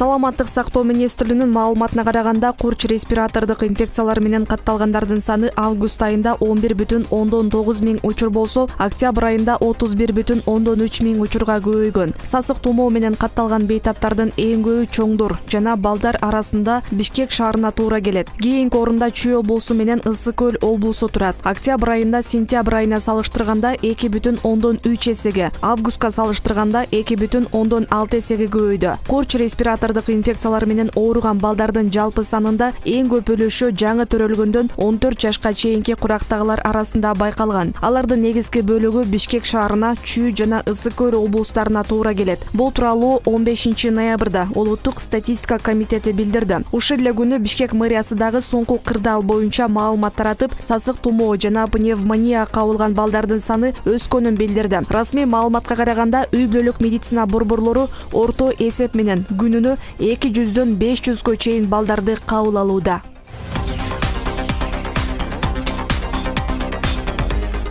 Саламаттык сактоо министрлигинин маалыматына караганда, курч респиратордук инфекциялар менен катталгандардын саны август айында 11,9 миң учур болсо, октябрь айында 31,3 миң учурга көбөйгөн. Сасык тумоо менен катталган бейтаптардын эң көбү чоңдор жана балдар арасында Бишкек шаарына туура келет. Кийинки орунда Чүй облусу менен Ысык көл облусу турат. Октябрь айында сентябрь айына салыштырганда 2,3 эсеге, августка салыштырганда 2,6 эсеге көбөйдү. Курч респиратордук инфекциялар менен ооруган балдардын жалпы санында эң көп өлүшү жаңы төрөлгөндөн 14 жашка чейинки курактагылар арасында байкалган. Алардын негизги бөлүгү Бишкек шаарына, Чүй жана Ысык көл облустарына туура келет. Бул тууралуу 15 ноябрда Улуттук статистика комитети билдирди. Ушул эле күнү Бишкек мэриясы дагы соңку кырдаал боюнча маалымат таратып, сасык тумоо жана пневмония кабылган балдардын саны өскөнүн билдирди. Расмий маалыматка караганда, үй бүлөлүк медицина борборлору орто эсеп менен күнүнө 200дөн 500гө чейин балдарды кабыл алууда.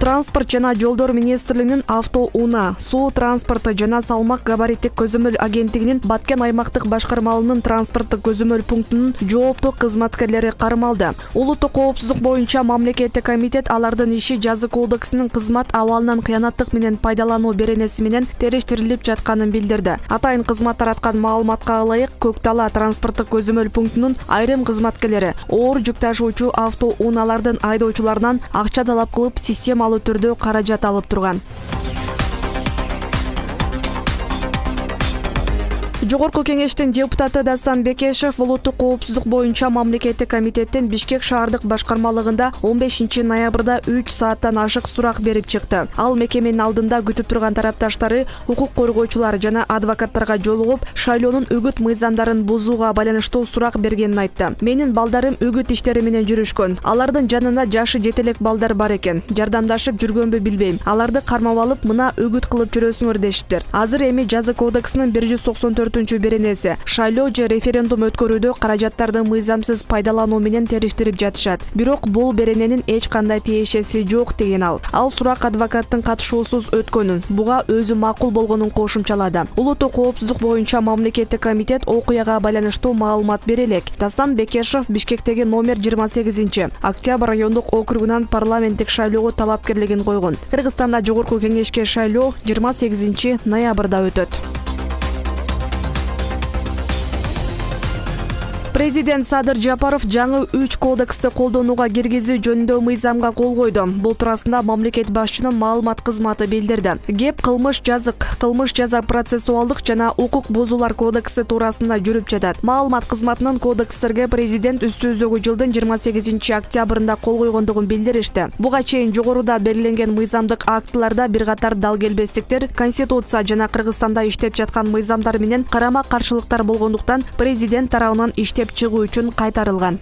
Транспорт жана жолдор министрлигинин автоунаа, суу транспорты жана салмак габариттик көзөмөл агенттигинин Баткен аймактык башкармалынын транспорттук көзөмөл пунктунун жооптуу кызматкерлери кармалды. Улуттук коопсуздук боюнча мамлекеттик комитет алардын иши жазы кодексинин кызмат абалынан кыянаттык менен пайдалануу беренеси менен териштирилип жатканын билдирди. Атайын кызмат тараткан маалыматка ылайык, Көктала транспорттук көзөмөл пунктунун айрым кызматкерлери оор жүк ташуучу автоунаалардын айдоочуларынан акча талап кылып, системалуу түрдө каражат алып турган. Жогорку кеңештин депутаты Дастан Бекешев улуттук коопсуздук боюнча мамлекеттик комитеттин Бишкек шаардык башкармалыгында 15 ноябрда 3 сааттан ашык сурак берип чыкты. Ал мекеменин алдында күтүп турган тарапташтары, укук коргоочулар жана адвокаттарга жолугуп, шайлоонун үгүт мыйзамдарын бузууга байланыштуу сурак бергенин айтты. Менин балдарым үгүт иштери менен жүрүшкөн. Алардын жанында жашы жете элек балдар бар экен. Жардамдашып жүргөнбү билбейм. Аларды кармап алып, мына үгүт кылып жүрөсүңөр дешиптир. Азыр эми жазы кодексинин 194 беренеси шайлоо же референдум өткөрүүдө каражаттарды мыйзамсыз пайдалануу менен териштирип жатышат. Бирок бул берененин эч кандай тиешеси жок деген ал. Ал сурак адвокаттын катышуусуз өткөнүн, буга өзү макул болгонун кошумчалады. Улуттук коопсуздук боюнча мамлекеттик комитет окуяга байланыштуу маалымат бере элек. Дастан Бекешев Бишкектеги номер 28 Октябрь райондук округунан парламенттик шайлоого талапкерлигин койгон. Кыргызстанда жогорку кеңешке шайлоо 28 ноябрда өтөт. Президент Садыр Жапаров жаңы 3 кодексти колдонууга киргизүү жөнүндө мыйзамга кол койду. Бул туурасында мамлекет башчынын маалымат кызматы билдирди. Кеп кылмыш жаза процессуалдык жана укук бузуулар кодекси туурасында жүрүп жатат. Маалымат кызматынын кодекстерге президент үстүбүздөгү жылдын 28 октябрында кол койгондугун билдиришти. Буга чейин жогоруда белгиленген мыйзамдык актыларда бир катар дал келбестиктер, конституция жана Кыргызстанда иштеп жаткан мыйзамдар менен карама каршылыктар болгондуктан президент тарабынан иштеп чыгуу үчүн кайтарылган.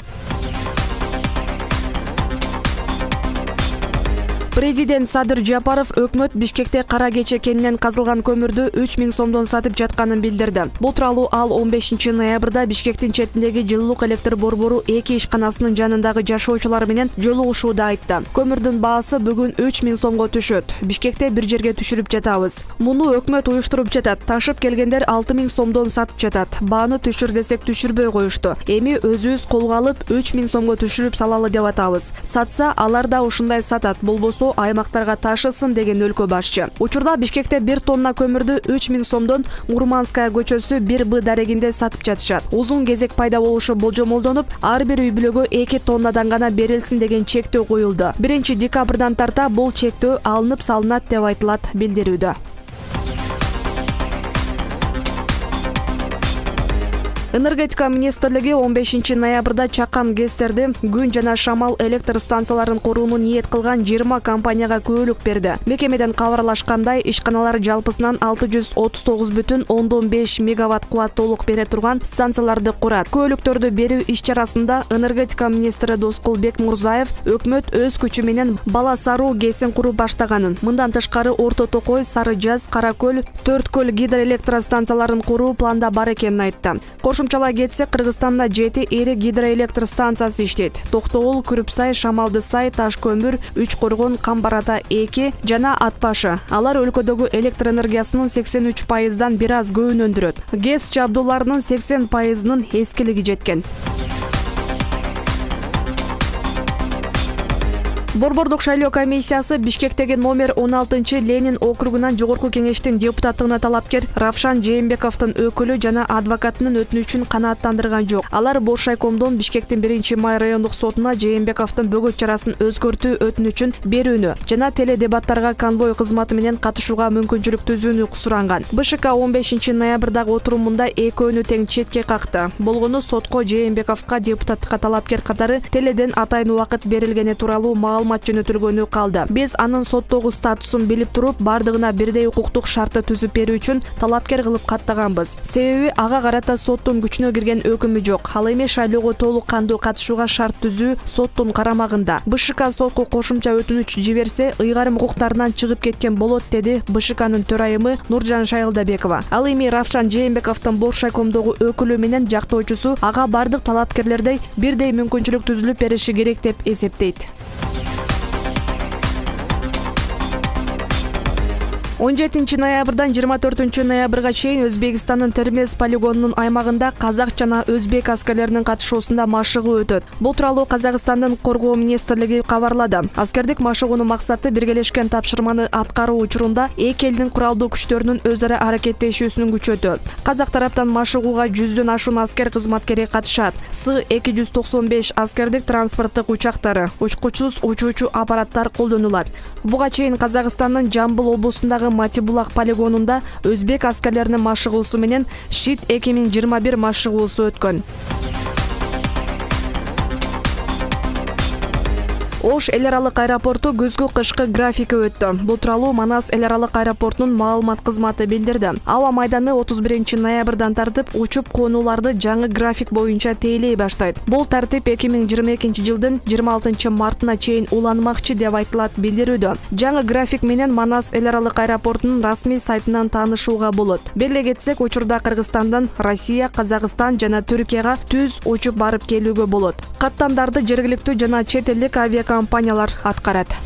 Президент Садыр Жапаров өкмөт Бишкекте Кара Кече кенинен казылган көмүрдү 3000 сомдон сатып жатканын билдирди. Бул тууралуу ал 15 ноябрда Бишкектин четиндеги жылуулук электр борбору 2 ишканасынын жанындагы жашоочулар менен жолугушууда айтты. Көмүрдүн баасы бүгүн 3000 сомго түшөт. Бишкекте бир жерге түшүрүп жатабыз. Муну өкмөт уюштуруп жатат. Ташып келгендер 6000 сомдон сатып жатат. Бааны түшүр десек түшүрбөй коюшту. Эми өзүбүз колго алып 3000 сомго түшүрүп салалы деп атабыз. Сатса алар да ушундай сатат. Болбосо аймактарга ташысын деген өлкө башчы. Учурда Бишкекте 1 тонна көмүрдү 3000 сомдон Мурманская көчөсү 1Б дарегинде сатып жатышат. Узун кезек пайда болушу болжомолдонуп, ар бир үй бүлөгө 2 тоннадан гана берилсин деген чектөө коюлду. 1 декабрдан тарта бул чектөө алынып салынат деп айтылат билдирүүдө. Энергетика министрлиги 15 ноябрда Чакан ГЭСтерди күн жана шамал электр станцияларын курууну ниет кылган 20 компанияга көөлүк берди. Мекемеден кабарлашкандай, ишканалар жалпысынан 639,5 мегаватт кубаттуулук бере турган станцияларды курат. Көөлүктөрдү берүү иш-чарасында энергетика министри Доскулбек Мурзаев өкмөт өз күчү менен Бала Саруу ГЭСин куруп баштаганын, мындан тышкары Орто Токой, Сары Жаз, Кара Көл, Төрт Көл гидроэлектростанцияларын куруу планда бар экенин айтты. Кошумчалай кетсек, Кыргызстанда 7 ири гидроэлектр станциясы иштейт. Токтогул, Күрүпсай, Шамалдысай, Таш-Көмүр, Үч Коргон, Камбарата 2 жана Атбашы. Алар өлкөдөгү электр энергиясынын 83%дан бир аз көбүн өндүрөт. ГЭС жабдууларынын 80%нын эскилиги жеткен. Борбордук шайлоо комиссиясы Бишкектеги номер 16 Ленин округунан жогорку кеңештин депутаттыгына талапкер Равшан Жээнбековдун өкүлү жана адвокатынын өтүнүчүн канааттандырган жок. Алар Бош райкомдон Бишкектин 1-май райондук сотуна Жээнбековдун бөгөт чарасын өзгөртүү өтүнүчүн берүүнү жана теледебаттарга конвой кызматы менен катышууга мүмкүнчүлүк түзүүнү суранган. БШК 15 ноябрдагы отурумунда экөөнү тең четке какты. Болгону сотко Жээнбековго депутаттыкка талапкер катары теледен атайын убакыт берилгени тууралуу маалымат жөнөтүлгөнү калды. Биз анын соттогу статусун билип туруп, бардыгына бирдей укуктук шартты түзүп берүү үчүн талапкер кылып каттаганбыз. Себеби ага карата соттун күчүнө кирген өкүмү жок. Ал эми шайлоого толук кандуу катышууга шарт түзүү соттун карамагында. БШК сотко кошумча өтүнүч жиберсе, ыйгарым укуктарынан чыгып кеткен болот, деди БШКнын төрайымы Нуржан Шайылдабекова. Ал эми Равшан Жээнбековдун Бош райкомдогу өкүлү менен жактоочусу ага бардык талапкерлердей бирдей мүмкүнчүлүк түзүлүп бериши керек деп эсептейт. 17 ноябрдан 24 ноябрга чейин Өзбекстандын Термез полигонунун аймагында казак жана өзбек аскерлеринин катышуусунда машыгуу өтөт. Бул тууралуу Казакстандын коргоо министрлиги кабарлады. Аскердик машыгуунун максаты биргелешкен тапшырманы аткаруу учурунда эки элдин куралдуу күчтөрүнүн өз ара аракеттешүүсүн күчөтүү. Казак тараптан машыгууга 100дөн ашуун аскер кызматкери катышат. С-295 аскердик транспорттук учактары, учкучсуз учуучу аппараттар колдонулат. Буга чейин Казакстандын Жамбыл облусундагы Матибулак полигонунда өзбек аскерлеринин машыгуусу менен Шит 2021 машыгуусу өткөн. Ош эл аралык аэропорту күзгү-кышкы графики өттү. Бул тууралуу Манас эл аралык аэропортунун маалымат кызматы билдирди. Аба майданы 31 ноябрдан тартып учуп конууларды жаңы график боюнча тейлей баштайт. Бул тартип 2022 жылдын 26 мартына чейин уланмакчы деп айтылат билдирүүдө. Жаңы график менен Манас эл аралык аэропортунун расмий сайтынан таанышууга болот. Беле кетсек, учурда Кыргызстандан Россия, Казакстан жана Түркияга түз учуп барып келүүгө болот. Каттамдарды жергиликтүү жана чет элдик авиакомпаниялар аткарат.